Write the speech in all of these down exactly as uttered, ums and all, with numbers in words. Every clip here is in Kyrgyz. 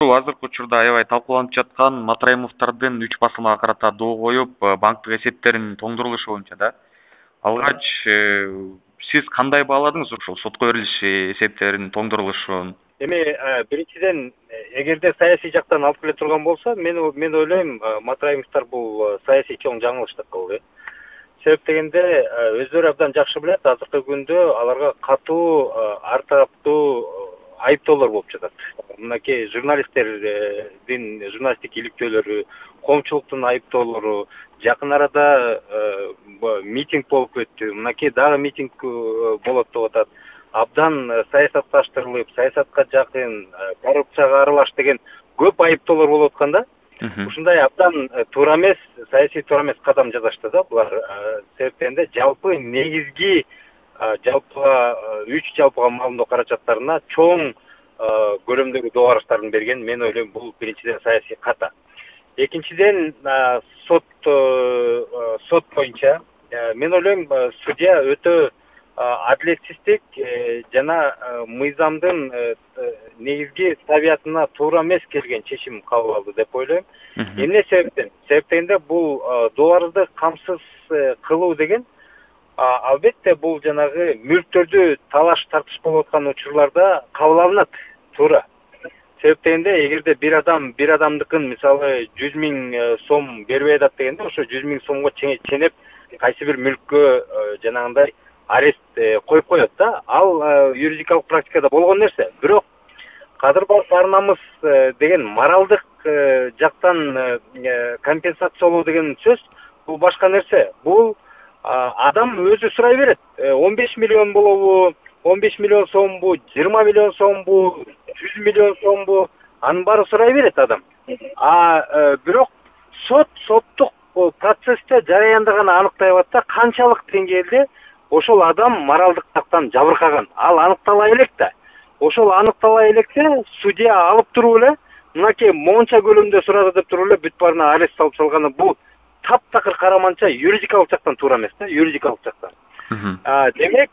Бул азыркы учурда аябай талкууланып жаткан Матраимовдордун үч басылмага карата доо коюп, банктык эсептеринин тоңдурулушу боюнча да. Алгач сиз кандай бааладыңыз ушул сотко берилиш эсептеринин тоңдурулушун? Эми биринчиден, эгерде саясий жактан алып келе турган болсо, мен мен ойлойм, Матраимовдор бул саясий чоң жаңылыш деп кылды. Себеп дегенде, өздөрү абдан жакшы билет, азыркы күндө аларга катуу ар тараптуу айыптоолор болуп жатат. Мынакей журналисттердин журналисттик иликтөөлөрү, коомчулуктун айыптоолору, жакын арада митинг болуп өттү. Мынакей дагы митинг болот деп атат. Абдан саясатташтырылып, саясатка жакын, коррупцияга аралаш деген көп айыптоолор болуп атканда, ушундай абдан туура эмес, саясий туура эмес кадам жасашты да булар. Себептен жалпы негизги жалпыга үч жалпыга маалымдоо каражаттарына чоң көлөмдөгү доо барыштарын берген. Мен ойлойм, бул биринчиден саясий ката. Экинчиден, сот сот боюнча мен ойлойм, судья өтө адилетсиздик жана мыйзамдын негизги табиятына туура эмес келген чечим кабыл алды деп ойлойм. Эмне себептен? Себептен бул доо арызды камсыз кылуу деген албетте бул жанагы мүлктөрдү талаш тартыш болуп аткан учурларда кабыл алынат, туура. Себептен эгерде бир адам бир адамдыкын мисалы жүз миң сом бербей атат дегенде, ошо жүз миң сомго ченеп кайсы бир мүлккө жанагындай арест коюп коет да. Ал юридикалык практикада болгон нерсе. Бирок кадыр бар намыс деген моралдык жактан компенсациялоо деген сөз бул башка нерсе. Бул адам өзү сурай берет. он беш миллион болобу, он беш миллион сомбу, жыйырма миллион сомбу, жүз миллион сомбу, анын баары сурай берет адам. А бирок сот соттук процессте жараянда гана аныктай алат да, канчалык деңгээлде ошол адам моралдык жактан жабыркаган. Ал аныктала элек да. Ошол аныктала электе судья алып туруп эле мынакей монча көлөмдө сурады деп туруп эле бүт баарына арест салып салганы бул таптакыр караманча юридикалык жактан туура эмес да, юридикалык жактан. Демек,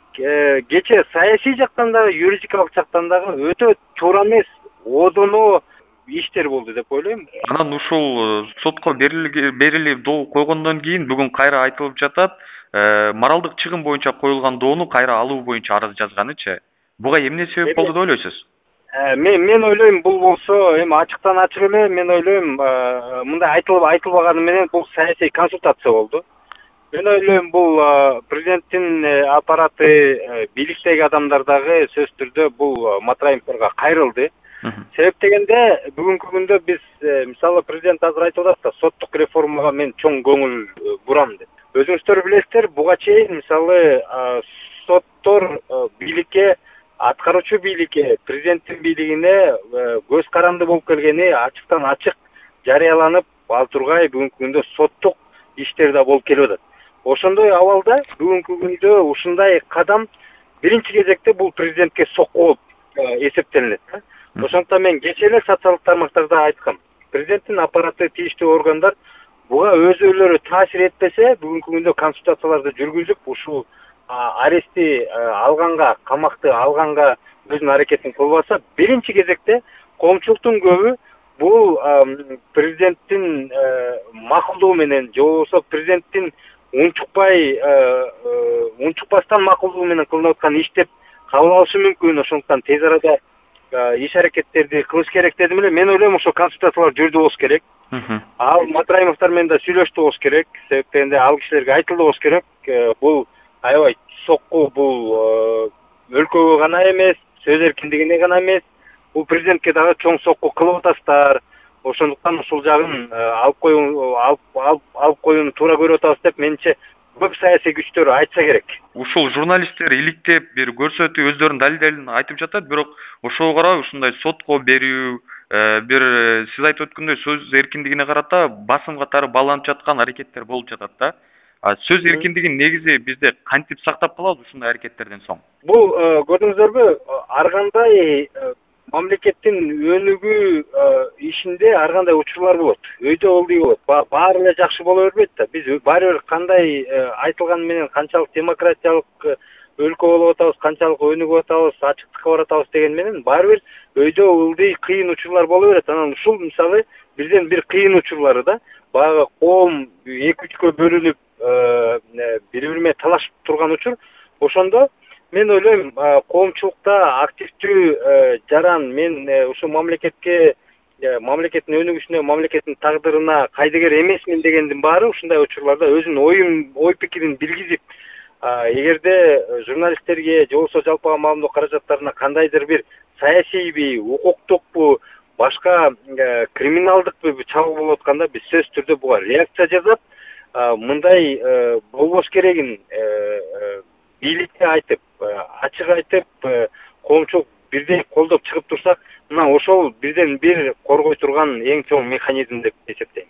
кече саясий жактан дагы, юридикалык жактан дагы өтө туура эмес, одоно иштер болду деп ойлойм. Анан ушул сотко берилип доо койгондон кийин бүгүн кайра айтылып жатат, моралдык чыгым боюнча коюлган доону кайра алуу боюнча арыз жазганычы. Буга эмне себеп болду деп ойлойсуз? Мен мен ойлойм, бул болсо эми ачыктан ачык эле, мен ойлойм, мындай айтылып айтылбаганы менен бул саясий консультация болду. Мен ойлойм, бул президенттин аппараты, бийликтеги адамдар дагы сөзсүз түрдө бул Матраимовдорго кайрылды. Себеп дегенде бүгүнкү күндө биз мисалы президент азыр айтып атат да, соттук реформага мен чоң көңүл бурам деп. Өзүңүздөр билесиздер, буга чейин мисалы соттор бийликке, аткаруучу бийликке, президенттин бийлигине көз каранды болуп келгени ачыктан ачык жарыяланып, ал тургай бүгүнкү күндө соттук иштер да болуп келип атат. Ошондой абалда бүгүнкү күндө ушундай кадам биринчи кезекте бул президентке сокку болуп эсептелинет. Ошондуктан мен кечээ эле социалдык тармактарда айткам. Президенттин аппараты, тийиштүү органдар буга өзүлөрү таасир этпесе, бүгүнкү күндө консультацияларды жүргүзүп, ушул арестти алганга, камакты алганга өзүнүн аракетин кылбаса, биринчи кезекте коомчулуктун көбү бул президенттин макулдугу менен, же болбосо президенттин унчукпай унчукпастан макулдугу менен кылынып аткан иш деп кабыл алышы мүмкүн. Ошондуктан тез арада иш аракеттерди кылыш керек дедим эле. Мен ойлойм, ошо консультациялар жүрдү болуш керек. Ал Матраимовдор менен да сүйлөштү болуш керек. Себептен ал кишилерге айтылды болуш керек. Бул аябай сокку бул өлкөгө гана эмес, сөз эркиндигине гана эмес, бул президентке дагы чоң сокку кылып атасыздар. Ошондуктан ушул жагын алып коюу алып алып коюуну туура көрүп атабыз деп менимче көп саясий күчтөр айтса керек. Ушул журналисттер иликтеп бир көрсөтүп өздөрүнүн далилдерин айтып жатат, бирок ошого карабай ушундай сотко берүү, бир сиз айтып өткөндөй сөз эркиндигине карата басым катары бааланып жаткан аракеттер болуп жатат да. Сөз эркиндигин негизи бизде кантип сактап калабыз ушундай аракеттерден соң? Бул көрдүңүздөрбү, ар кандай мамлекеттин өнүгүү ишинде ар кандай учурлар болот. Өйдө олдуй болот. Баары эле жакшы боло бербейт да. Биз баары бир кандай айтылганы менен канчалык демократиялык өлкө болуп атабыз, канчалык өнүгүп атабыз, ачыктыкка баратабыз деген менен баары бир өйдө ылдый кыйын учурлар боло берет. Анан ушул мисалы бирден бир кыйын учурлары да баягы коом эки үчкө бөлүнүп бири бири менен талашып турган учур. Ошондо мен ойлойм, коомчулукта активдүү жаран, мен ушул мамлекетке, мамлекеттин өнүгүшүнө, мамлекеттин тагдырына кайдыгер эмесмин дегендин баары ушундай учурларда өзүнүн оюн, ой пикирин билгизип, эгерде журналисттерге же болбосо жалпыга маалымдоо каражаттарына кандайдыр бир саясийби, укуктукпу, башка криминалдыкпы чабуул болуп атканда биз сөзсүз түрдө буга реакция жасап, мындай болбош керегин бийликке айтып, ачык айтып, коомчулук бирдей колдоп чыгып турсак, мына ошол бирден бир коргой турган эң чоң механизм деп эсептейм.